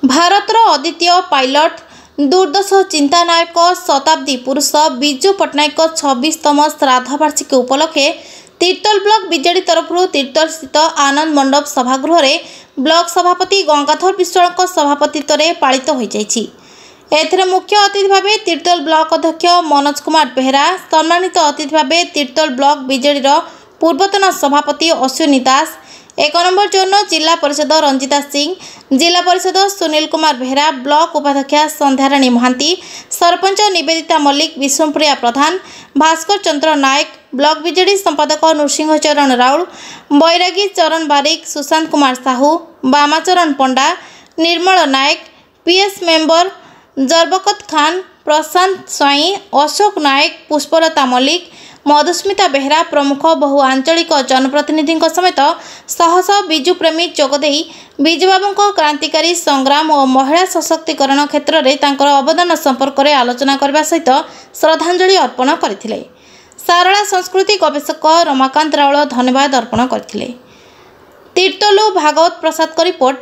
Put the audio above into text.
ଭାରତର ଅଦ୍ୱିତୀୟ ପାଇଲଟ, ଦୁର୍ଦ୍ଦଶ ଚିନ୍ତାନାୟକ, ଶତାବ୍ଦୀ ପୁରୁଷ ବିଜୁ ପଟ୍ଟନାୟକଙ୍କ 26ତମ ଶ୍ରାଦ୍ଧବାର୍ଷିକୀ ଉପଲକ୍ଷେ ତିର୍ତ୍ତୋଲ ବ୍ଲକ ବିଜେଡି ତରଫରୁ ତିର୍ତ୍ତୋଲସ୍ଥିତ ଆନନ୍ଦ ମଣ୍ଡପ ସଭାଗୃହରେ ବ୍ଲକ ସଭାପତି ଗଙ୍ଗାଧର ବିଶ୍ୱାଳଙ୍କ ସଭାପତିତ୍ୱରେ ପାଳିତ ହୋଇଯାଇଛି। ଏଥିରେ ମୁଖ୍ୟ ଅତିଥି ଭାବେ ତିର୍ତ୍ତୋଲ ବ୍ଲକ ଅଧ୍ୟକ୍ଷ ମନୋଜ କୁମାର ବେହେରା, ସମ୍ମାନିତ ଅତିଥି ଭାବେ ତିର୍ତ୍ତୋଲ ବ୍ଲକ ବିଜେଡିର ପୂର୍ବତନ ସଭାପତି ଅଶ୍ୱିନୀ ଦାସ, 1 ନମ୍ବର ଜୋନ୍ର ଜିଲ୍ଲା ପରିଷଦ ରଞ୍ଜିତା ସିଂ, ଜିଲ୍ଲା ପରିଷଦ ସୁନୀଲ କୁମାର ବେହେରା, ବ୍ଲକ ଉପାଧ୍ୟକ୍ଷା ସନ୍ଧ୍ୟାରାଣୀ ମହାନ୍ତି, ସରପଞ୍ଚ ନିବେଦିତା ମଲ୍ଲିକ, ବିଷ୍ଣୁପ୍ରିୟା ପ୍ରଧାନ, ଭାସ୍କର ଚନ୍ଦ୍ର ନାୟକ, ବ୍ଲକ ବିଜେଡି ସମ୍ପାଦକ ନୃସିଂହ ଚରଣ ରାଉଳ, ବୈରାଗୀ ଚରଣ ବାରିକ, ସୁଶାନ୍ତ କୁମାର ସାହୁ, ବାମାଚରଣ ପଣ୍ଡା, ନିର୍ମଳ ନାୟକ, ପିଏସ୍ ମେମ୍ବର ଜର୍ବକତ ଖାନ, ପ୍ରଶାନ୍ତ ସ୍ୱାଇଁ, ଅଶୋକ ନାୟକ, ପୁଷ୍ପଲତା ମଲ୍ଲିକ, ମଧୁସ୍ମିତା ବେହେରା ପ୍ରମୁଖ ବହୁ ଆଞ୍ଚଳିକ ଜନପ୍ରତିନିଧିଙ୍କ ସମେତ ଶହ ଶହ ବିଜୁପ୍ରେମୀ ଯୋଗଦେଇ ବିଜୁବାବୁଙ୍କ କ୍ରାନ୍ତିକାରୀ ସଂଗ୍ରାମ ଓ ମହିଳା ସଶକ୍ତିକରଣ କ୍ଷେତ୍ରରେ ତାଙ୍କର ଅବଦାନ ସମ୍ପର୍କରେ ଆଲୋଚନା କରିବା ସହିତ ଶ୍ରଦ୍ଧାଞ୍ଜଳି ଅର୍ପଣ କରିଥିଲେ। ସାରଳା ସଂସ୍କୃତି ଗବେଷକ ରମାକାନ୍ତ ରାଉଳ ଧନ୍ୟବାଦ ଅର୍ପଣ କରିଥିଲେ। ତିର୍ତ୍ତୋଲରୁ ଭାଗବତ ପ୍ରସାଦଙ୍କ ରିପୋର୍ଟ,